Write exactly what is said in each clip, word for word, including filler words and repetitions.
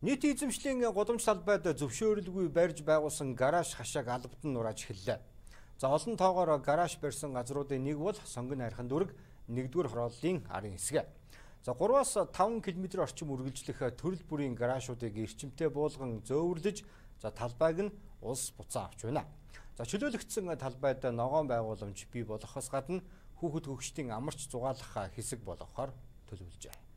Нийт эзэмшлийн гудамж талбайд зөвшөөрөлгүй барьж байгуулсан гараж хашааг албад нь нурааж эхэллээ. За олон тоогоор гараж барьсан газруудын нэг бол Сонгон хайрхан дүүрэг нэгдүгээр хорооллын арын хэсэг. За гураваас таван км орчим үргэлжлэх төрөл бүрийн гаражуудыг эрчимтэй буулган зөөвөрлөж, за талбайг нь улс буцаа авч байна. За чөлөөлөгдсөн талбайд ногоон байгууламж бий болохоос гадна хүүхэд хөгшдийн амарч зугаалах хэсэг болгохоор төлөвлөжээ.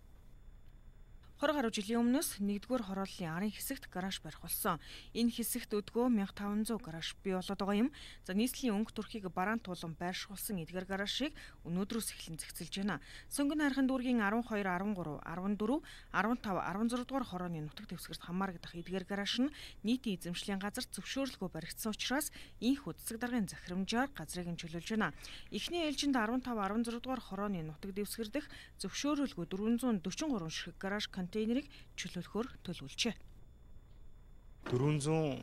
Хор гаруй жилийн өмнөөс нэгдүгээр хорооллын арын хэсэгт гараж барих болсон. Энэ хэсэгт өдгөө мянга таван зуун гараж бий болоод байгаа юм. За нийслэлийн өнгө төрхийг бараан туулан байршуулсан эдгээр гаражийг өнөөдрөөс эхлэн зэгцэлж байна. Сонгон хайрхан дүүргийн арван хоёр, арван гурав, арван дөрөв, арван тав, арван зурав дугаар хорооны нутаг дэвсгэрт хамаарагдах эдгээр гараж нь нийтийн эзэмшлийн газар зөвшөөрлөгөө баригдсан учраас инх үдцэг даргын захирамжаар газрыг нь чөлөөлж байна. Эхний ээлжинд арван тав, арван зурав дугаар хорооны нутаг дэвсгэр дэх зөвшөөрлөгөө дөрвөн зуун дөрвөн гурван ширхэг гараж контейнерыг чөлөөлөхөөр төлөвлөжээ. дөрвөн зуун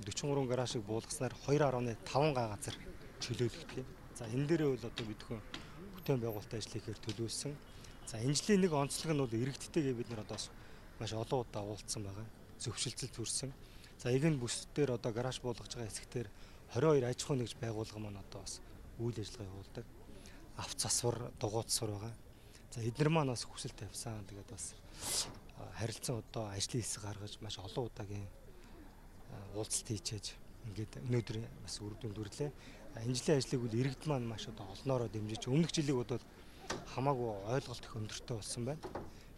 дөрвөн гурван гаражийг буулгаснаар хоёр гаруй таван га газар чөлөөлөгдөх юм. За энэ дээрээ бол одоо бидхэн бүтээн байгуулалтын ажлыг ихээр төлөвлөсөн. За энэ жилийн нэг онцлог нь бол иргэдтэйгээ бид нар одоо маш олон удаа уулзсан байгаа. Зөвшөлтсөл төрсөн. За эгэн бүсдээр одоо гараж буулгаж байгаа хэсэгтэр хорин хоёр аж ахуй нэгж байгууллага маань одоо бас үйл ажиллагаа явуулдаг. Авц засвар, дугуйт сур байгаа. За эдгээр маань бас хүсэл тавьсан. Тэгээд бас харилцан одоо ажлын хэсэг гаргаж маш олон удаагийн уулзалт хийчээж ингээд өнөөдөр бас үр дүнд хүрлээ. Энэ жилийн ажлыг бол иргэд маань маш одоо олноороо дэмжиж өмнөх жилиг бол хамаагүй ойлголт их өндөртэй болсон байна.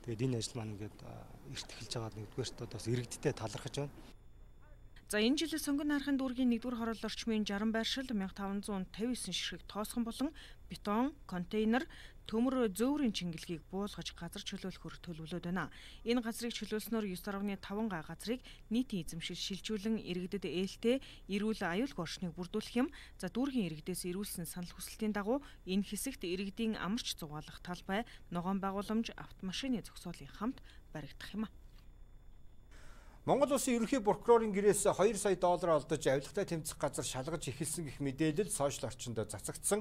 Тэгээд энэ ажил маань ингээд эрт эхэлж байгаа нэгдүгээрт одоо бас иргэдтэй талархаж байна. За энэ жилийн Сонгон хайрхан дүүргийн нэгдүгээр хороол орчмын жарган байршил мянга таван зуун тавин девять ширхэг тоосгон болон бетон, контейнер, төмөр зөөврийн чингэлгийг буулгаж газар чөлөөлөхөөр төлөвлөд байна. Энэ газрыг чөлөөлснөөр девять дашь таван га газрыг нийтийн эзэмшил шилжүүлэн иргэдэд ээлтэй эрүүл аюулгүй орчныг бүрдүүлэх юм. За дүүргийн иргэдээс ирүүлсэн санал хүсэлтийн дагуу энэ хэсэгт иргэдийн амарч зугаалах талбай, ногоон байгууламж, автомашины зогсоолын хамт баригдах юм. Монгол Улсын ерөнхий прокурорын гэрээс хоёр сая доллар олдож авилгатай тэмцэх газар шалгаж эхэлсэн гэх мэдээлэл сошиал орчинд цацагдсан.